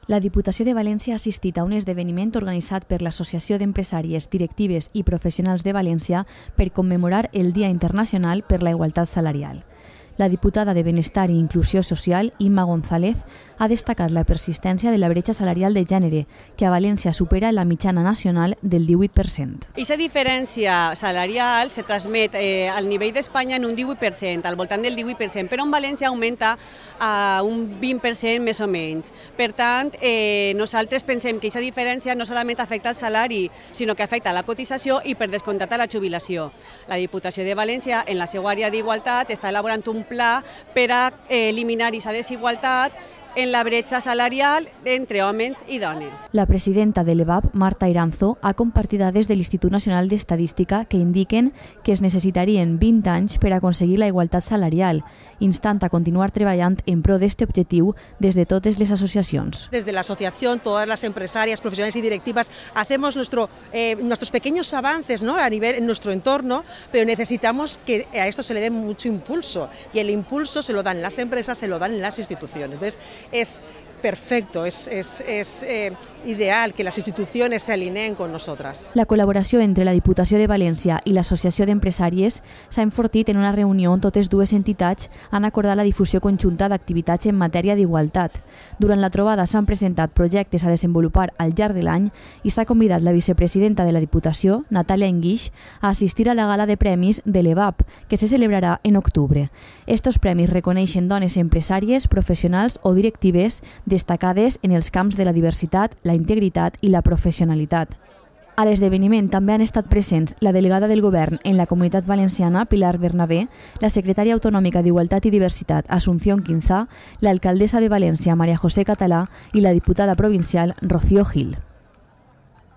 La Diputació de València ha assistit a un esdeveniment organitzat per l'Associació d'Empresàries, Directives i Professionals de València per commemorar el Dia Internacional per la Igualtat Salarial. La diputada de Benestar i Inclusió Social, Imma González, ha destacat la persistència de la bretxa salarial de gènere, que a València supera la mitjana nacional del 18%. Aquesta diferència salarial se transmet al nivell d'Espanya en un 18%, al voltant del 18%, però en València augmenta a un 20% més o menys. Per tant, nosaltres pensem que aquesta diferència no solament afecta el salari, sinó que afecta la cotització i, per descomptat, a la jubilació. La Diputació de València, en la seva àrea d'igualtat, està elaborant un pla per a eliminar aquesta desigualtat en la bretxa salarial entre homes i dones. La presidenta de l'EVAP, Marta Iranzo, ha compartit dades de l'Institut Nacional d'Estadística que indiquen que es necessitarien 20 anys per aconseguir la igualtat salarial, instant a continuar treballant en pro d'este objectiu des de totes les associacions. Desde la asociación, todas las empresarias, profesionales y directivas, hacemos nuestros pequeños avances, ¿no?, a nivel en nuestro entorno, pero necesitamos que a esto se le dé mucho impulso, y el impulso se lo dan las empresas, se lo dan las instituciones. Entonces, es perfecto, es ideal que las instituciones se alineen con nosotras. La col·laboració entre la Diputació de València i l'Associació d'Empresàries s'ha enfortit en una reunió on totes dues entitats han acordat la difusió conjunta d'activitats en matèria d'igualtat. Durant la trobada s'han presentat projectes a desenvolupar al llarg de l'any i s'ha convidat la vicepresidenta de la Diputació, Natàlia Enguix, a assistir a la gala de premis de l'EVAP, que se celebrarà en octubre. Estos premis reconeixen dones empresàries, professionals o directives destacades en els camps de la diversitat, la integritat i la professionalitat. A l'esdeveniment també han estat presents la delegada del Govern en la Comunitat Valenciana, Pilar Bernabé, la secretària autonòmica d'Igualtat i Diversitat, Asunción Quinzá, l'alcaldessa de València, María José Català, i la diputada provincial, Rocío Gil.